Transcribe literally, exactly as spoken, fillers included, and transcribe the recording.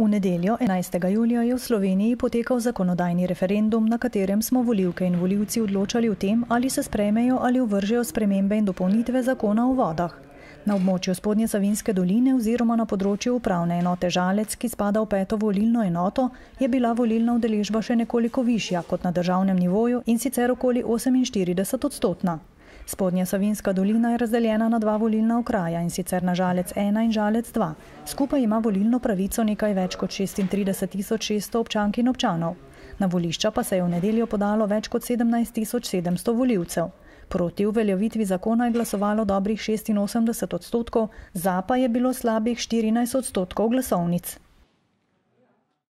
V nedeljo, enajstega julija, je v Sloveniji potekal zakonodajni referendum, na katerem smo volivke in volivci odločali o tem, ali se sprejmejo ali uvržejo spremembe in dopolnitve zakona o vodah. Na območju Spodnje Savinjske doline oziroma na področju upravne enote Žalec, ki spada v peto volilno enoto, je bila volilna udeležba še nekoliko višja kot na državnem nivoju, in sicer okoli oseminštirideset odstotna. Spodnja Savinjska dolina je razdeljena na dva volilna okraja, in sicer na Žalec ena in Žalec dva. Skupaj ima volilno pravico nekaj več kot šestintrideset tisoč šeststo občank in občanov. Na volišča pa se je v nedeljo podalo več kot sedemnajst tisoč sedemsto volivcev. Proti uveljavitvi zakona je glasovalo dobrih šestinosemdeset odstotkov, za pa je bilo slabih štirinajst odstotkov glasovnic.